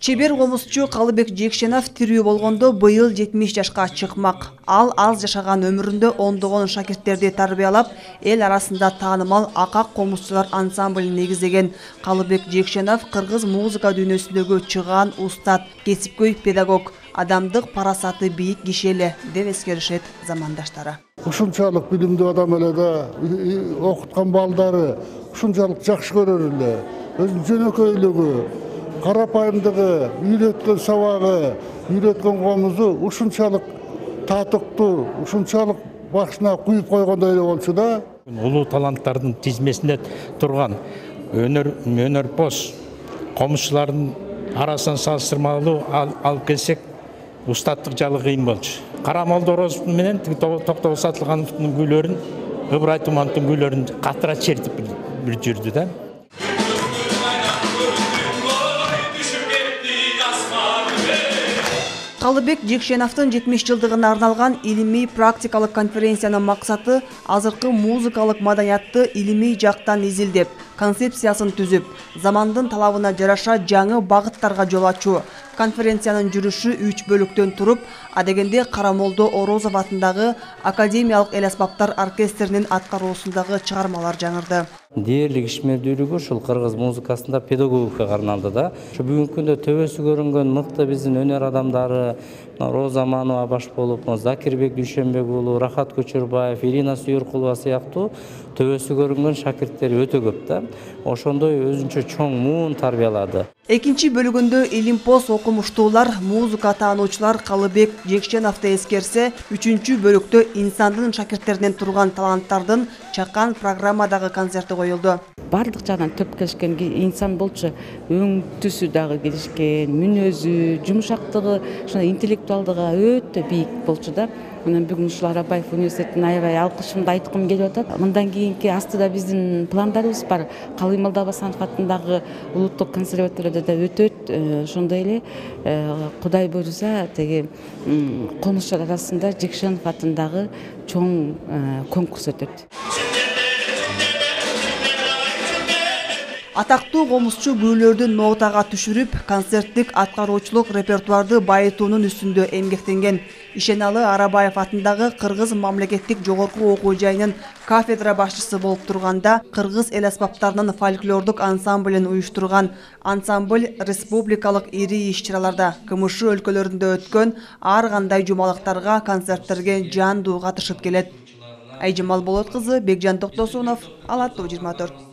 Чебер комузчу Калыбек Жекшенов тирүү болгондо быйыл 70 жашка чыкмак. Ал аз жашаган өмүрүндө ондогон шакирттерди тарбиялап, эл арасында таанымал Акак комузчулар ансамблин негиздеген. Калыбек Жекшенов кыргыз музыка дүйнөсүндөгү чыгаан устат, кесипкөй педагог, адамдык парасаты бийик киши эле деп эскеришет замандаштары. Ушунчалык билимдүү адам эле да, окуткан балдары ушунчалык жакшы көрөр эле. Өзүнүн жөнөкөйлүгү, карапайымдыгы, үйрөткөн сабагы, үйрөткөн комузу ушунчалык татыктуу, ушунчалык башына куюп койгондой эле болчу да. Улуу таланттардын тизмесинде турган өнөрпоз комузчулардын арасынан салыштырмалуу алып келсек, устаттык жагы кыйын болчу. Карамолдо Ороз менен Токтогул Сатылгановдун күйлөрүн, Ыбырай Тумановдун күйлөрүн катыра чертип бир жүрдү да. Калыбек Жекшеновдун 70 жылдыгына арналган илимий практикалык конференциянын максаты азыркы музыкалык маданиятты илимий жактан изилдеп, концепциясын түзүп, замандын талабына жараша жаңы багыттарга жол ачуу. Конференциянын жүрүшү 3 бөлүктөн туруп, адегенде Карамолдо Орозов атындагы Академиялык эл аспаптар оркестринин аткаруусундагы чыгармалар жаңырды. Дээрлик ишмердүүлүгү ушул кыргыз музыкасында педагогикага арналды да. Бүгүнкү күндө төбөсү көрүнгөн мыкты биздин өнөр адамдары Роза Манова баш болуп, Закирбек Дүйшөнбек уулу, Рахат Көчөрбаев, Ирина Сүйүркулова сыяктуу төбөсү көрүнгөн шакирттер өтө көп да. Ошондой өзүнчө чоң муун тарбиялады. Экинчи бөлүгүндө илимпоз окумуштуулар, музыка таануучулар Калыбек Жекшеновду эскерсе, үчүнчү бөлүктө инсандын шакирттеринен турган таланттардын чакан программадагы концерти коюлду. Бардык жагынан төп келишкен инсан болчу, өң түсү дагы келишкен, мүнөзү, жумшактыгы, ошондой интеллектуалдыгы өтө бийик болчу да. Мен бүгүн ушул Арабаев университетине аябай алкышымды айткым келип атат. Мындан кийинки астыда биздин пландарыбыз бар. Калый Молдобасанов атындагы улуттук консерваторияда да өтөт. Ошондой эле Кудай буйруса, теги комузчулар арасында Жекшенов атындагы чоң конкурс өтөт. Атактуу комузчу күйлөрдү нотага түшүрүп, концерттик аткаруучулук репертуарды байытуунун үстүндө эмгектенген. Ишеналы Арабаев атындагы Кыргыз мамлекеттик жогорку окуу жайынын кафедра башчысы болуп турганда, кыргыз эл аспаптарынын фольклордук ансамблин уюштурган. Ансамбль республикалык ири иш-чараларда, КМШ өлкөлөрүндө өткөн ар кандай жумалыктарга, концерттерге жандуу катышып келет. Айжамал Болот кызы, Бекжан Токтосунов, Ала Тоо 24.